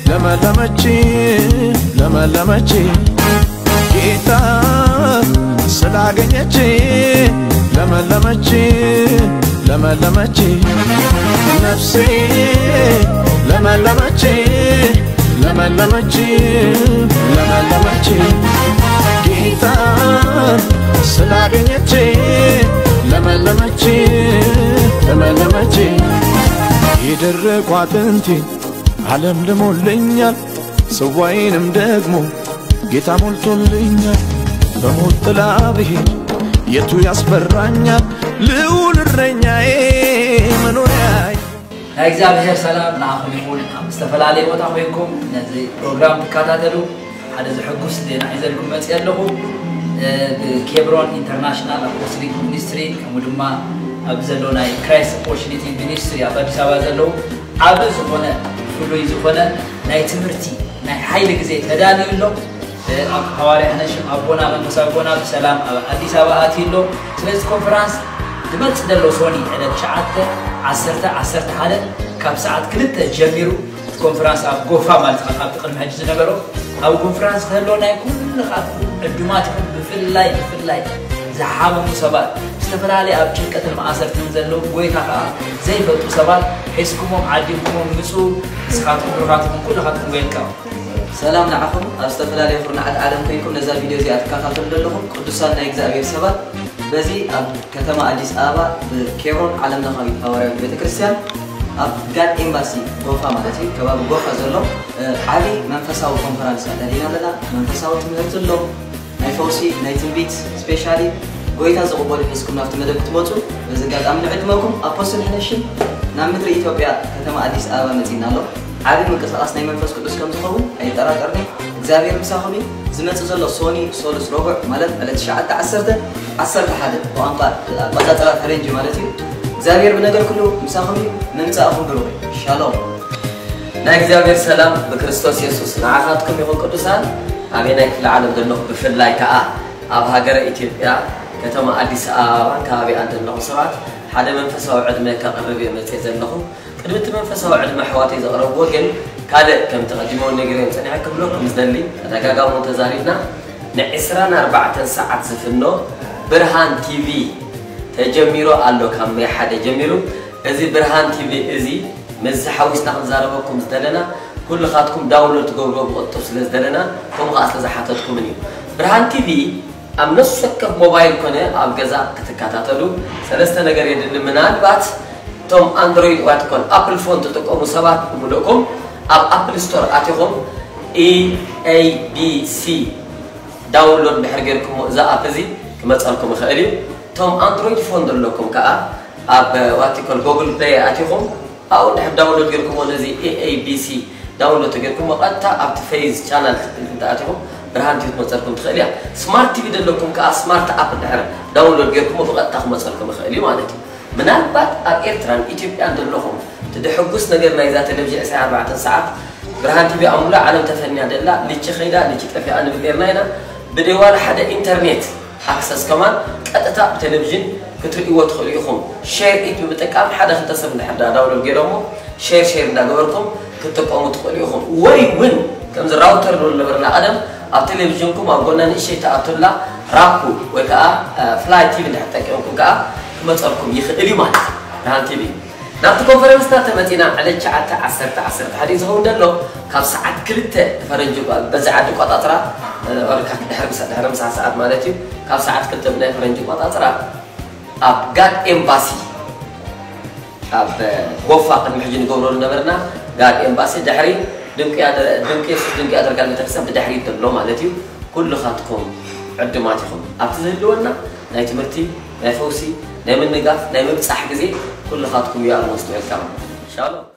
ለመለመች ለመለመች ጌታ ስላገኘች ለመለመች ለመለመች ነፍሴ ለመለመች ለመለመች ለመለመች ጌታ ስላገኘች ለመለመች ለመለመች የደረቁ አጥንቴ ዓለም ልሞልኛል ጽዋዬንም ደግሞ ጌታ ሞልቶልኛል። በሞት ጥላ ብሄድ የቱ ያስፈራኛል? ልዑል እረኛዬ መኖሪያዬ። ናይ እግዚኣብሔር ሰላም ንዓኹም ይኹን። ኣብ ዝተፈላለየ ቦታ ኮይንኩም ነዚ ፕሮግራም ትከታተሉ ሓደ ዘሐጉስ ዜና ሒዘልኩም መፅእ ኣለኹ። ብኬብሮን ኢንተርናሽናል ኣፖስቶሊክ ሚኒስትሪ ከምኡ ድማ ኣብ ዘሎ ናይ ክራይስት ኦፖርቹኒቲ ሚኒስትሪ ኣብ ኣዲስ ኣበባ ዘለዉ ዓቢ ዝኾነ ፍሉይ ዝኾነ ናይ ትምህርቲ ናይ ሓይሊ ግዜ ተዳልዩ ኣሎ። ኣብ ሃዋርያ ነሽም ኣቦና መንፈሳዊ ኣቦና ብሰላም ኣብ ኣዲስ ኣበባ ኣትዩ ኣሎ። ስለዚ ኮንፈራንስ ዝመጽእ ዘሎ ሶኒ ዕለት ትሽዓተ ዓሰርተ ዓሰርተ ሓደ ካብ ሰዓት ክልተ ጀሚሩ እቲ ኮንፈራንስ ኣብ ጎፋ ማለት ካብ ኣብቲ ቅድሚ ሕጂ ዝነበሮ ኣብ ኮንፈራንስ ክህሎ ናይ ኩልኻትኩም ዕዱማት ይኹን ብፍላይ ብፍላይ ዝሓመሙ ሰባት ዝተፈላለየ ኣብ ጭንቀትን ማእሰርትን ዘለዉ ጎይታ ከዓ ዘይፈልጡ ሰባት ሒዝኩሞም ዓዲምኩሞም ምፁ። ንስኻትኩም ብሩኻትኩም ኩልኻትኩም ዌልካም። ሰላም ንዓኹም ኣብ ዝተፈላለየ ኩርናዓት ዓለም ኮይንኩም ነዛ ቪድዮ እዚኣ ትከታተሉ ዘለኹም ቅዱሳን ናይ እግዚኣብሔር ሰባት። በዚ ኣብ ከተማ ኣዲስ ኣበባ ብኬብሮን ዓለም ለኻዊት ሃዋርያዊት ቤተ ክርስቲያን ኣብ ጋድ ኤምባሲ ጎፋ ማለት እዩ ከባቢ ጎፋ ዘሎ ዓቢ መንፈሳዊ ኮንፈራንስ ኣዳሊና ኣለና። መንፈሳዊ ትምህርቲ ኣሎ፣ ናይ ፈውሲ ናይ ትንቢት ስፔሻሊ ጎይታ ዝቕበሉ ሒዝኩም ናብቲ መደብ ክትመፁ በዚ ኣጋጣሚ ንዕድመኩም። ኣፖስትል ሕነሽም ናብ ምድሪ ኢትዮጵያ ከተማ ኣዲስ ኣበባ መፂና ኣሎ። ዓቢ ምንቅስቓስ ናይ መንፈስ ቅዱስ ከም ዝኸውን ኣይጠራጠርኒ። እግዚኣብሔር ምሳኹም እዩ። ዝመፅእ ዘሎ ሶኒ ሶሉስ ረቡዕ ማለት ዕለት ትሽዓተ ዓሰርተ ዓሰርተ ሓደ ብቋንቋ ኣቆፃፅራ ፈረንጂ ማለት እዩ። እግዚኣብሔር ብነገር ኩሉ ምሳኹም እዩ። ምምፃእኹም ብሩኽ እዩ። ሻሎም። ናይ እግዚኣብሔር ሰላም ብክርስቶስ የሱስ ንዓኻትኩም ይኹን። ቅዱሳን ኣበየናይ ክፍለ ዓለም ዘለኹ ብፍላይ ከዓ ኣብ ሃገረ ኢትዮጵያ ከተማ ኣዲስ ኣበባን ከባቢኣን ዘለኹ ሰባት ሓደ መንፈሳዊ ዕድመ ከቕርብ እየ መፅየ ዘለኹ። ቅድሚ እቲ መንፈሳዊ ዕድመ ኣሕዋተይ ዘቕረብዎ ግን ካልእ ከምቲ ቀዲመ እውን ነጊረዮም ፀኒሐ ክብለኩም ዝደሊ ተደጋጋሚ እውን ተዛሪብና ንዕስራን ኣርባዕተን ሰዓት ዝፍኖ ብርሃን ቲቪ ተጀሚሩ ኣሎ ካብ ሜይ ሓደ ጀሚሩ እዚ ብርሃን ቲቪ እዚ ምስዚ ሓዊስና ክንዛረበኩም ዝደለና ኩልኻትኩም ዳውንሎድ ትገብርዎ ብቕልጡፍ ስለ ዝደለና ከምኡ ከዓ ስለ ዝሓተትኩምን እዩ። ብርሃን ቲቪ ኣብ ነፍሲ ወከፍ ሞባይል ኮነ ኣብ ገዛ ክትከታተሉ ሰለስተ ነገር የድሊ። ምናልባት እቶም ኣንድሮይድ ዋትኮን ኣፕል ፎን ትጥቀሙ ሰባት ብምልእኩም ኣብ ኣፕል ስቶር ኣቲኹም ኢኤቢሲ ዳውንሎድ ድሕር ጌርኩሞ እዚ ኣፕ እዚ ክመፀልኩም ይኽእል እዩ። እቶም ኣንድሮይድ ፎን ዘለኩም ከዓ ኣብ ዋቲኮል ጎግል ፕሌይ ኣቲኹም ኣብኡ ድሕር ዳውንሎድ ጌርኩሞ ነዚ ኤኤቢሲ ዳውንሎድ ተጌርኩሞ ቀጥታ ኣብቲ ፌዝ ቻናል ክትብል እንተኣቲኹም ብርሃን ቲቪ ክትመፀልኩም ትኽእል እያ። ስማርት ቲቪ ዘለኩም ከዓ ስማርት ኣፕ ድሕር ዳውንሎድ ጌርኩሞ ብቐጥታ ክመፀልኩም ይኽእል እዩ ማለት እዩ። ምናልባት ኣብ ኤርትራን ኢትዮጵያን ዘለኹም እቲ ደሕጉስ ነገር ናይዛ ቴሌቪዥን ዕስራን ኣርባዕተን ሰዓት ብርሃን ቲቪ ኣብ ሙሉእ ዓለም ተፈንያ ደላ ልቺ ኸይዳ ልቺ ጠፊኣ ንብል ኔርና ኢና። ብደይ ዋላ ሓደ ኢንተርኔት ኣክሰስ ከማን ቀጥታ ብቴሌቪዥን ክትርእይዎ ትኽእሉ ኢኹም። ሼር ኢት ብምጥቃም ሓደ ክልተ ሰብ እንድሕር ዳ ዳውንሎድ ገይሮሞ ሼር ሼር እንዳገበርኩም ክትጥቀሙ ትኽእሉ ኢኹም። ወይ እውን ከምዚ ራውተር ንብል ነበርና ቀደም ኣብ ቴሌቪዥንኩም ኣብ ጎና ንእሽተይ ትኣቱላ ራኩ ወይ ከዓ ፍላይ ቲቪ እንድሕር ተጠቂምኩም ከዓ ክመፀልኩም ይኽእል እዩ ማለት እዩ። ብርሃን ቲቪ ናብቲ ኮንፈረንስና ተመፂና ዕለት ትሽዓተ ዓሰርተ ዓሰርተ ሓደ እዩ ዝኸውን ዘሎ ካብ ሰዓት ክልተ ፈረንጂ በዚ ዓዲ ቆፃፅራ ድሕሪ ምሳ ሰዓት ማለት እዩ ካብ ሰዓት ክልተ ብናይ ፈረንጂ ቆፃፅራ ኣብ ጋድ ኤምባሲ ኣብ ጎፋ ቅድሚ ሕጂ ንገብሮ ዝነበርና ጋድ ኤምባሲ ድሕሪ ድንቂ የሱስ ድንቂ ያደርጋል ቤተክርስትያን ብድሕሪት ዘሎ ማለት እዩ። ኩልኻትኩም ዕዱማት ኢኹም። ኣብቲ ዝህልወና ናይ ትምህርቲ፣ ናይ ፈውሲ፣ ናይ ምንጋፍ፣ ናይ ምብጻሕ ግዜ ኩልኻትኩም you are most welcome። ሻሎም።